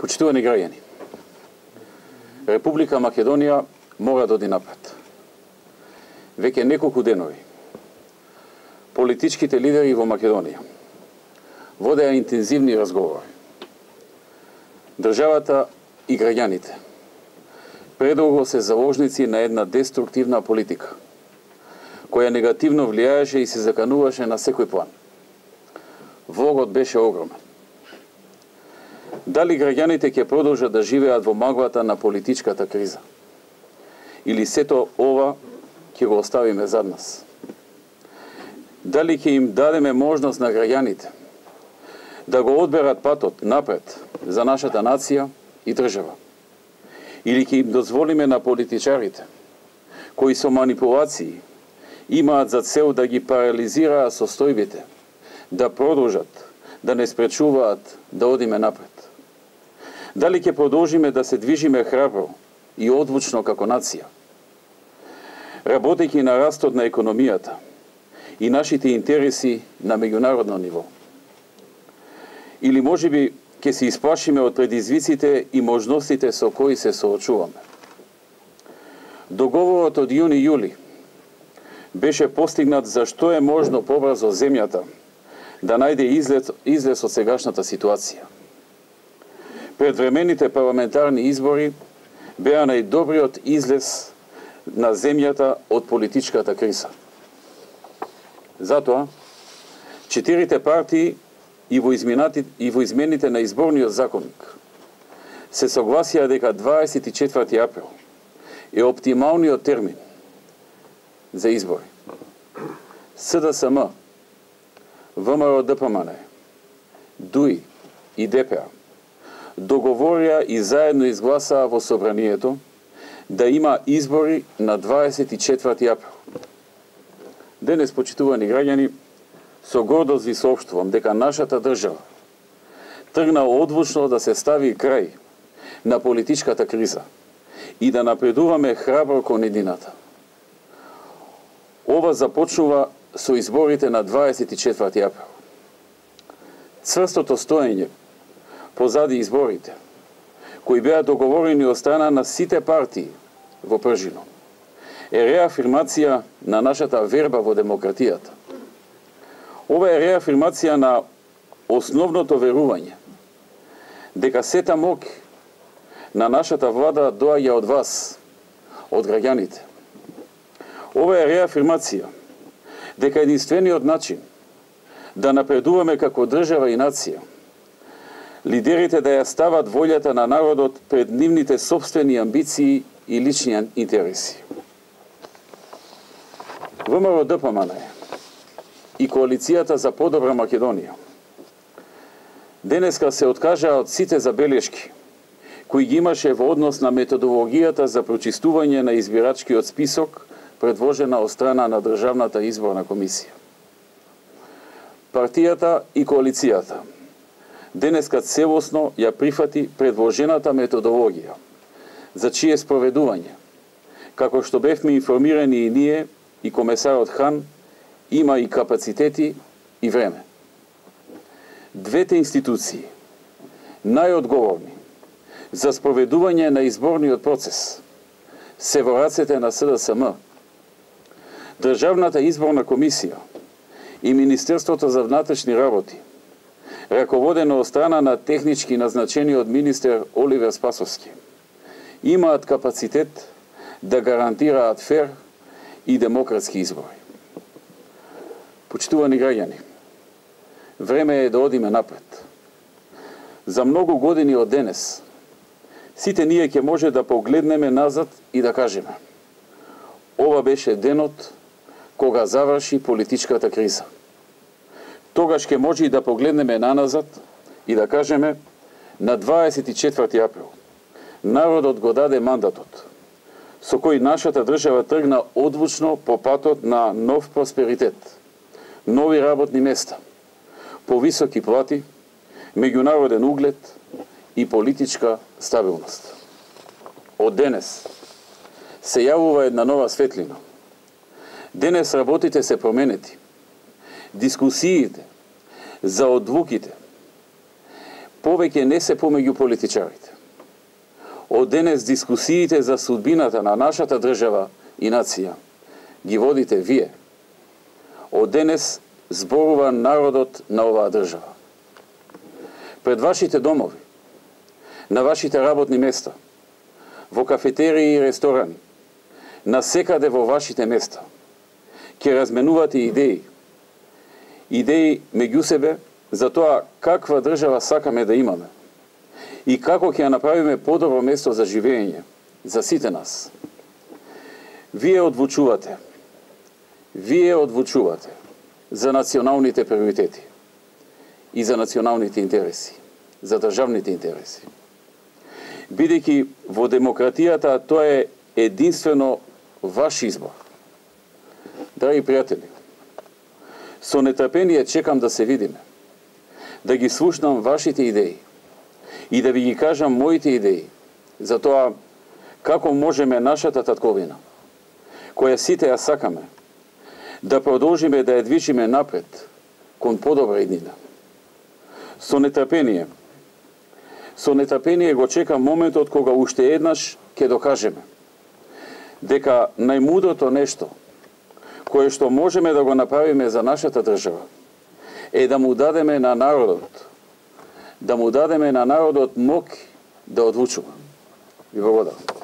Почитувани граѓани, Република Македонија мора да оди напред. Веќе неколку денови политичките лидери во Македонија водеа интензивни разговори. Државата и граѓаните предолго се заложници на една деструктивна политика, која негативно влијаеше и се закануваше на секој план. Влогот беше огромен. Дали граѓаните ќе продолжат да живеат во маглата на политичката криза? Или сето ова ќе го оставиме зад нас? Дали ќе им дадеме можност на граѓаните да го одберат патот напред за нашата нација и држава? Или ќе им дозволиме на политичарите, кои со манипулации имаат за цел да ги парализираат состојбите, да продолжат, да не спречуваат да одиме напред? Дали ќе продолжиме да се движиме храбро и одвучно како нација, работејќи на растот на економијата и нашите интереси на меѓународно ниво? Или можеби ќе се исплашиме од предизвиците и можностите со кои се соочуваме? Договорот од јуни-јули беше постигнат за што е можно побрзо земјата да најде излез од сегашната ситуација. Предвремените парламентарни избори беа најдобриот излез на земјата од политичката криза. Затоа, 4 партии и во измените на изборниот законник се согласија дека 24 април е оптималниот термин за избори. СДСМ, ВМРО-ДПМН, ДУИ и ДПА договорија и заедно изгласаа во собранието да има избори на 24 април. Денес, почитувани граѓани, со гордост ви соопштувам дека нашата држава тргна одвучно да се стави крај на политичката криза и да напредуваме храбро кон едината. Ова започнува со изборите на 24 април. Цврстото стоење позади изборите, кои беа договорени од страна на сите партии во Пржино, е реафирмација на нашата верба во демократијата. Ова е реафирмација на основното верување дека сета моќ на нашата влада доаѓа од вас, од граѓаните. Ова е реафирмација дека единствениот начин да напредуваме како држава и нација, лидерите да ја стават волјата на народот пред нивните сопствени амбиции и лични интереси. ВМРО-ДПМН и Коалицијата за подобра Македонија денеска се откажаа од сите забелешки кои ги имаше во однос на методологијата за прочистување на избирачкиот список предложена од страна на Државната изборна комисија. Партијата и коалицијата денеска целосно ја прифати предложената методологија, за чие спроведување, како што бевме информирани и ние и комесарот Хан, има и капацитети и време. Двете институции, најодговорни за спроведување на изборниот процес, се во рацете на СДСМ. Државната изборна комисија и Министерството за внатрешни работи, раководено од страна на технички назначениот министер Оливер Спасовски, имаат капацитет да гарантираат фер и демократски избори. Почитувани граѓани, време е да одиме напред. За многу години од денес, сите ние ќе може да погледнеме назад и да кажеме: ова беше денот кога заврши политичката криза. Тогаш ќе може и да погледнеме наназад и да кажеме: на 24 април народот го даде мандатот со кој нашата држава тргна одвучно по патот на нов просперитет, нови работни места, повисоки плати, меѓународен углед и политичка стабилност. Од денес се јавува една нова светлина. Денес работите се променети. Дискусиите за одлуките повеќе не се помеѓу политичарите. Од денес дискусиите за судбината на нашата држава и нација ги водите вие. Од денес зборува народот на оваа држава. Пред вашите домови, на вашите работни места, во кафетерии и ресторани, насекаде во вашите места, ќе разменувате идеи. Идеи меѓу себе за тоа каква држава сакаме да имаме и како ќе ја направиме подобро место за живење за сите нас. Вие одлучувате за националните приоритети и за националните интереси, за државните интереси. Бидејќи во демократијата тоа е единствено ваш избор. Драги пријатели, со нетрпение чекам да се видиме, да ги слушнам вашите идеи и да ви ги кажам моите идеи за тоа како можеме нашата татковина, која сите ја сакаме, да продолжиме да ја движиме напред кон подобра иднина. Со нетрпение го чекам моментот кога уште еднаш ќе докажеме дека најмудрото нешто кое што можеме да го направиме за нашата држава е да му дадеме на народот, мок да одлучува. Ви благодарам.